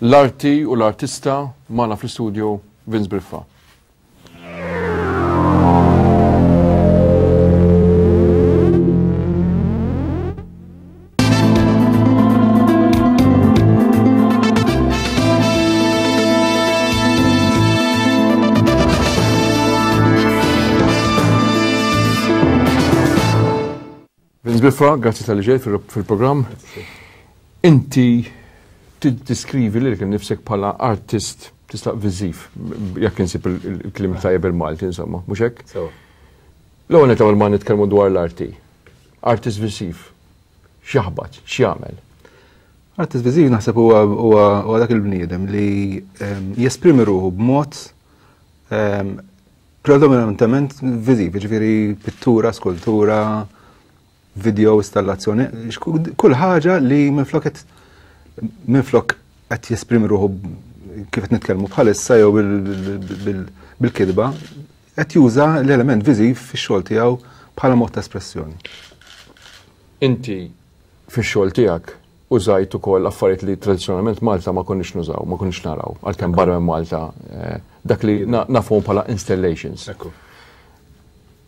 L-arti u l-artista magħna fl-istudio Vince Briffa. Vince Biffa, grazzi tal-li ġejt fil-programm. Inti tiddeskrivi lilek innifsek bħala artist tista' viżiv, jekk insib il-kliem tajjeb il-Malti, insomma, mhux hekk? L-ewwel nett qabel ma nitkellmu dwar l-arti. Artist viżiv, x'jaħbat, x'jagħmel? Artist viżiv naħseb huwa dak il-bniedem li ehm, jesprimi ruħu b'mod ehm, Predominantement viżiv, jiġifieri pittura, skultura, video, installazzjoni, kull ħaġa li minflok qed minflok qed jesprimi ruħu kif qed nitkellmu bħalissa jew bil-kitba, qed juża l-element viżiv fix-xogħol tiegħu bħala mod ta' espressjoni. Inti fix-xogħol tiegħek użajt ukoll affarijiet li tradizzjonalment Malta ma konniex nużaw, ma konniex naraw, għalkemm barra minn Malta eh, dak li nafuhom bħala installations.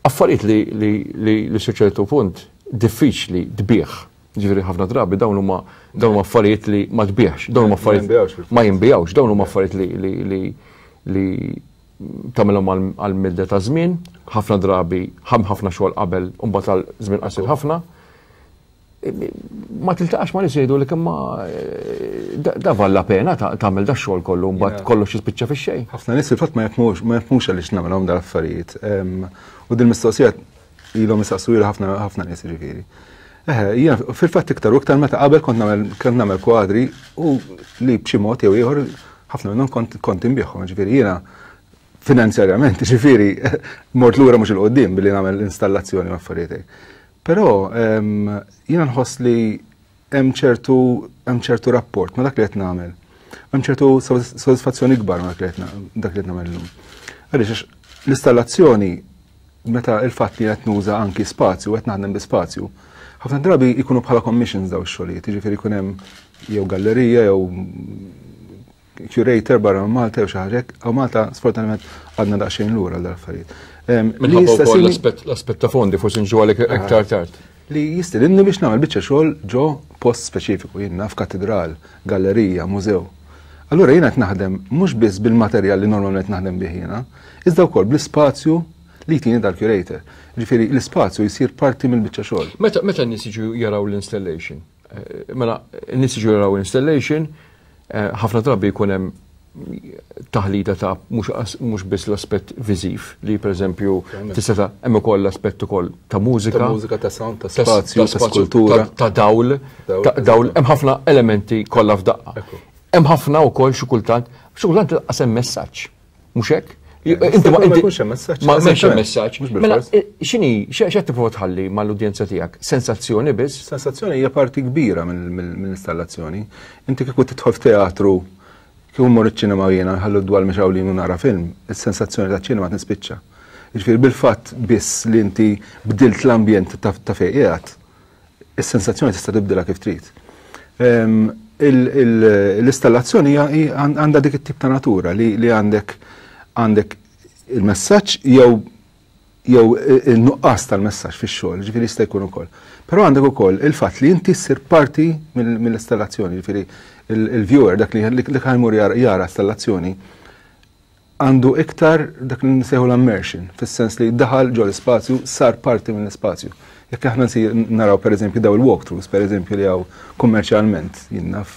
Affarijiet li li li li ċertu punt diffiċli tbieħ. Ġifieri ħafna drabi dawn huma dawn huma affarijiet li ma tbieħx, dawn huma affarijiet ma jinbijawx, dawn huma affarijiet li li li li tagħmilhom għal midda ta' żmien, ħafna drabi ħafna xogħol qabel u mbagħad għal żmien qasir ħafna. Ma tiltaqax ma nies jgħidu li imma eh, da valla pena tagħmel da xogħol kollu mbagħad kollox jispiċċa fix-xejn. Ħafna nies fil-fatt ma jafmux ma jafmux għaliex nagħmilhom dal affarijiet. U din mistoqsija ilhom jistaqsu ħafna ħafna nies ġifieri. Eħe, jiena fil-fatt iktar u iktar meta qabel kont nagħmel kont nagħmel kwadri u li b'xi mod jew ieħor ħafna minnhom kont kont inbiegħhom, ġifieri jiena finanzjarjament, ġifieri mort lura mhux il-qudiem billi nagħmel installazzjoni u affarijiet. Però jiena nħoss li hemm ċertu hemm ċertu rapport ma' dak li qed nagħmel. Hemm ċertu sodisfazzjoni kbar ma' dak li qed dak li qed nagħmel illum. Għaliex l-installazzjoni meta il-fatt li qed nuża anki spazju, qed naħdem bi spazju, ħafna drabi jkunu bħala commissions daw ix-xogħlijiet, jiġifieri jkun hemm jew gallerija jew curator barra minn Malta jew xi ħaġa hekk, hawn Malta sfortunatament għadna daqsxejn lura għal affarijiet. Minħabba wkoll l-aspett ta' fondi forsi nġu għalek iktar tard. Li jistedinni biex nagħmel biċċa xogħol ġo post speċifiku, jien naf katedral, gallerija, mużew. Allura jiena qed naħdem mhux biss bil-materjal li normalment naħdem bih jiena, iżda wkoll bl-ispazju li jtini dal-curator. Ġifieri l-ispazju jsir parti mill-biċċa xogħol. Meta meta n-nies jiġu jaraw l-installation, eh, mela n-nies jiġu jaraw installation, eh, ħafna drabi jkun hemm taħlita ta' mhux biss l-aspett viżiv li pereżempju tista' ta' hemm ukoll l-aspett ukoll ta' mużika. Ta' mużika, ta' sound, ta' spazju, ta' skultura. Ta' dawl, ta' dawl, hemm ħafna elementi kollha f'daqqa. Hemm ħafna wkoll xi kultant, xi kultant lanqas hemm messaġġ. Mhux hekk? Inti ma jkunx hemm messaġġ. Ma jkunx hemm messaġġ. Mela, eh, x'inhi x'qed tipprova tħalli mal-udjenza tiegħek? Sensazzjoni biss? Sensazzjoni hija parti kbira mill-installazzjoni. Inti kieku tidħol f'teatru kieku mmur iċ-ċinema jiena nħallu d-dwal mixgħulin u nara film, is-sensazzjoni ta' ċinema tispiċċa. Jiġifieri bil-fatt biss li inti bdilt l-ambjent ta' fejn qiegħed, Is-sensazzjoni tista' tibdilha kif trid. Ehm, l-installazzjoni għandha dik it-tip ta' natura li għandek għandek il-messaġġ jew jew il-nuqqas tal-messaġġ fix-xogħol, ġifieri jista' jkun ukoll. Però għandek ukoll il-fatt li inti ssir parti mill-installazzjoni, ġifieri il-viewer dak li ħajmur jara installazzjoni għandu iktar dak li nsejħu l-immersion, fis-sens li daħal ġol ispazju, sar parti mill-ispazju. Jekk aħna nsir naraw pereżempju daw il-walkthroughs, pereżempju li hawn kummerċjalment, jien naf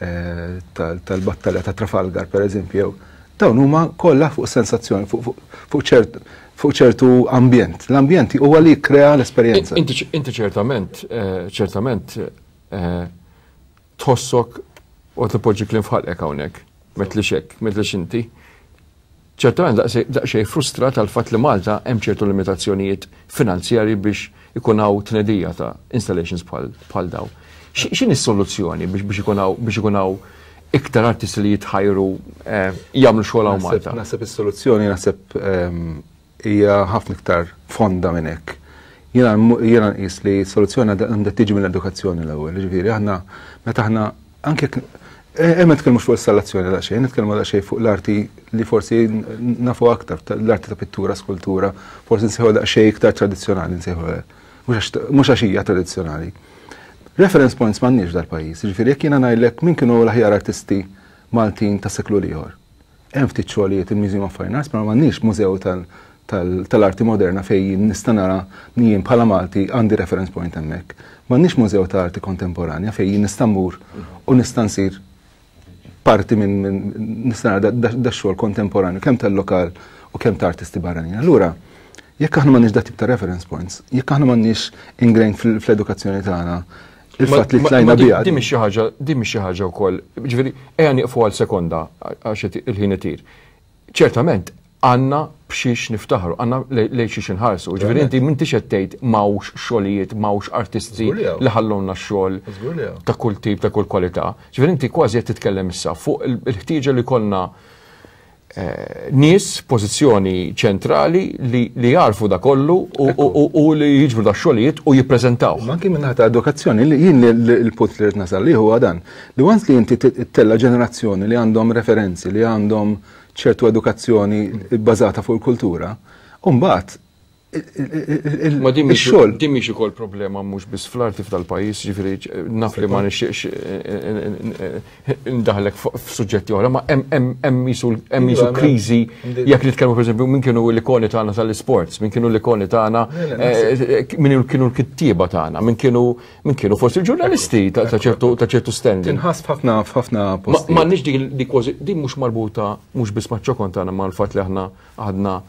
eh, tal-battalja ta' Trafalgar pereżempju, dawn huma kollha fuq sensazzjoni, fuq ċertu ambjent. L-ambjent huwa li jikkrea l-esperjenza. Inti ċertament, eh, ċertament eh, tħossok u tipoġġi kliem f'ħalqek hawnhekk, m'għedtlix hekk, m'għedtlix inti. Ċertament daqsxejn frustrat għal fatt li Malta hemm ċertu limitazzjonijiet finanzjarji biex ikun hawn tnedija ta' installations bħal daw. X'inhi s-soluzzjoni biex ikun hawn biex ikun hawn iktar artisti li jitħajru eh, jagħmlu xogħol hawn Malta? Naħseb is-soluzzjoni naħseb ehm, hija ħafna iktar fonda minn hekk. Jiena jiena nqis li soluzzjoni għandha tiġi mill-edukazzjoni l-ewwel, ġifieri aħna meta aħna anke Eh, ma nitkellmux fuq installazzjoni daqsxejn, nitkellmu daqsxejn fuq l-arti li forsi nafu aktar, l-arti ta' pittura, skultura, forsi nsejħu daqsxejn iktar tradizzjonali nsejħu mhux għax hija tradizzjonali. Reference points m'għandniex dal-pajjiż, jiġifieri jekk jiena ngħidlek min kienu l-aħjar artisti Maltin ta' seklu l-ieħor. Hemm ftit xogħlijiet il-Museum of Fine Arts, ma m'għandniex mużew tal-arti moderna fejn jien nista' nara jien bħala Malti għandi reference point hemmhekk. M'għandniex mużew ta' arti kontemporanja fejn jien nista' mmur u nista' nsir parti minn nista' nara da xogħol kontemporanju kemm tal-lokal u kemm ta' artisti barranin. Allura, jekk aħna m'għandniex dat tip ta' reference points, jekk aħna m'għandniex ingrained fl-edukazzjoni tagħna il-fatt li tlajna biha. Din mhix xi ħaġa, din mhix xi ħaġa wkoll. Ġifieri, ejja nieqfu għal sekonda għax il-ħin itir. Ċertament għandna b'xiex niftaħru, għandna lejn xiex inħarsu. Ġifieri inti m'intix qed tgħid m'hawnx xogħlijiet, m'hawnx artisti li ħallowna x-xogħol ta' kull tip, ta' kull kwalità. Ġifieri inti kważi qed titkellem issa fuq il-ħtieġa li kollna Eh, nies pożizzjoni ċentrali li, li jarfu da kollu u, li jiġbru da xogħlijiet u jippreżentaw. Ma anki minnaħa ta' edukazzjoni, li jien il-punt li rrid nasal li huwa dan, li once li inti tella ġenerazzjoni li għandhom referenzi, li għandhom ċertu edukazzjoni bbażata fuq il-kultura, u mbagħad Ma din mhix din mhix ukoll problema mhux biss fl-arti f'dal-pajjiż, ġifieri naf li ma nixtieqx ndaħlek f'suġġetti oħra, ma hemm jisu hemm jisu kriżi jekk nitkellmu pereżempju min kienu l-ikoni tagħna tal-isports, min kienu l-ikoni tagħna, min kienu l-kittieba tagħna, min kienu min kienu forsi l-ġurnalisti ta' ċertu ta' ċertu standing. Tinħass f'ħafna f'ħafna postijiet. M'għandniex dik di kważi din mhux marbuta mhux biss maċ-ċokon tagħna mal-fatt li aħna għadna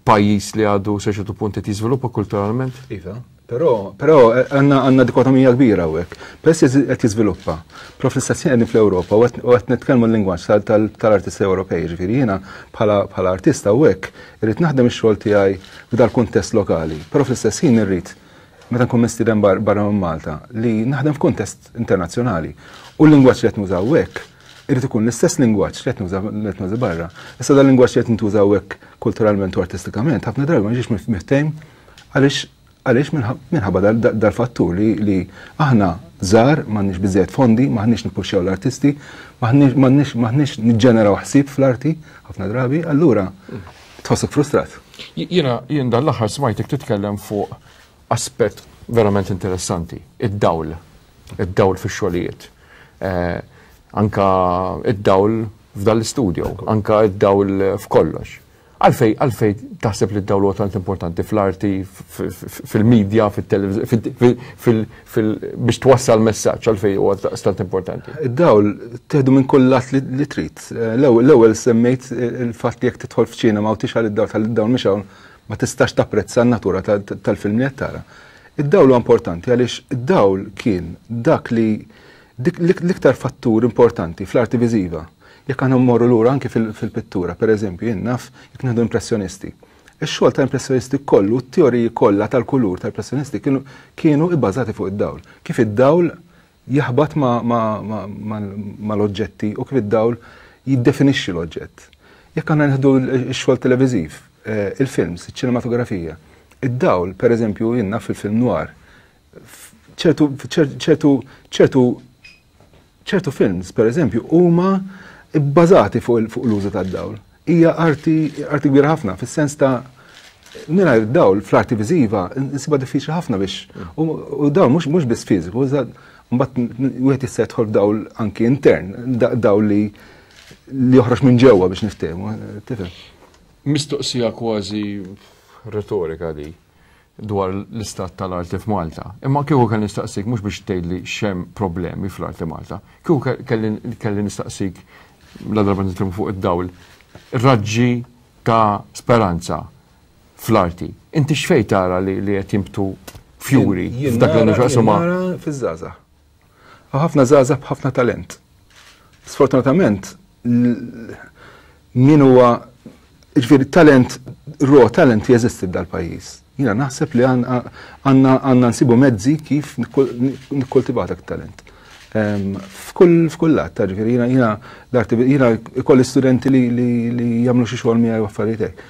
pajjiż li għadu sa ċertu punt qed jiżviluppa kulturalment. Iva, però però eh, għandna għandna dikotomija kbira hawnhekk. Peress qed jiżviluppa, però fl-istess ħin qegħdin fl-Ewropa u qed nitkellmu l-lingwaġġ tal-artisti Ewropej, ġifieri jiena bħala artista hawnhekk irrid naħdem ix-xogħol tiegħi f'dal kuntest lokali, però fl-istess ħin irrid meta nkun mistieden barra minn Malta li naħdem f'kuntest internazzjonali. U l-lingwaġġ li qed nużaw hekk irid ikun l-istess lingwaġġ li qed nuża li qed nuża barra. Issa dal lingwaġġ li qed ntuża hekk kulturalment u artistikament ħafna drabi ma ġiex miftehim għaliex għaliex minħabba dal-fattur li, li aħna żgħar m'għandniex biżejjed fondi, m'aħniex nippuxxjaw l-artisti, m'aħniex m'aħniex niġġeneraw ħsieb fl-arti ħafna drabi, allura tħossok frustrat. Jiena jien dan l-aħħar smajtek titkellem fuq aspett verament interessanti, id-dawl, id-dawl fix-xogħlijiet. Eh, anka id-dawl f'dan l-istudio, anka id-dawl f'kollox. Għalfej, għalfej taħseb li d-dawl huwa tant importanti fl-arti, fil-medja, biex twassal messaġġ, għalfej huwa tant importanti. Id-dawl teħdu minn kull lat li trid. Eh, l-ewwel semmejt il-fatt li jekk tidħol f'ċinema u tixgħal id-dawl tal-dawl mhix hawn ma tistax tapprezza n-natura tal-film li qed tara. Id-dawl huwa importanti għaliex id-dawl kien dak li l-iktar fattur importanti fl-arti viżiva. Jekk aħna mmorru lura anki fil-pittura, per eżempju, jien naf jekk nieħdu impressjonisti. Ix-xogħol ta' impressjonisti kollu, t-teoriji kollha tal-kulur tal-impressjonisti kienu kienu ibbażati fuq id-dawl. Kif id-dawl jaħbat mal-oġġetti u kif id-dawl jiddefinixxi l-oġġett. Jekk aħna nieħdu x-xogħol televiżiv, eh, il-films, iċ-ċinematografija, id-dawl, per eżempju, jien naf fil-film noir, ċertu ċertu ċertu ċertu films, per eżempju, huma bbażati fuq l-użu tad-dawl. Hija arti arti kbira ħafna, fis-sens ta' mingħajr dawl fl-arti viżiva nsibha diffiċli ħafna biex u dawl mhux mhux biss fiżiku, mbagħad wieħed jista' jidħol f'dawl anki intern, dawl li li joħroġ minn ġewwa biex niftehmu, tifhem. Mistoqsija kważi retorika di dwar l-istat tal-arti f'Malta. Imma kieku kelli nistaqsik mhux biex tgħidli x'hemm problemi fl-arti Malta. Kieku kelli nistaqsik la darba nitkellmu fuq id-dawl, raġġi ta' speranza fl-arti. Inti x'fej tara li qed jimbtu fjuri f'dak li għandu x'jaqsam ma' Fiż-żgħażagħ. Hawn ħafna żgħażagħ b'ħafna talent. Sfortunatament, min huwa ġifieri talent, raw talent jeżisti f'dal-pajjiż. Jiena naħseb li għandna nsibu mezzi kif nikkultivaw dak it-talent. F'kull f'kull lat, ta' ġifieri jiena jiena l-arti jiena ikolli studenti li li jagħmlu xi xogħol miegħi u affarijiet hekk.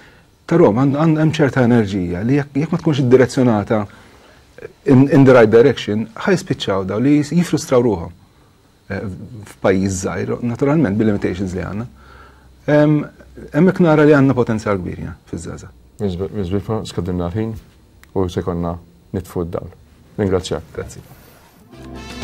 Tarahom hemm ċerta enerġija li jekk ma tkunx iddirezzjonata in, in the right direction, ħa jispiċċaw daw li jifrustraw ruħhom. f'pajjiż żgħir, naturalment bil-limitations li għandna. Hemmhekk nara li għandna potenzjal kbir fiż-żgħażagħ. Miżbifa skadilna l-ħin u se konna nitfu d-dawl. Ningrazzjak. Grazzi.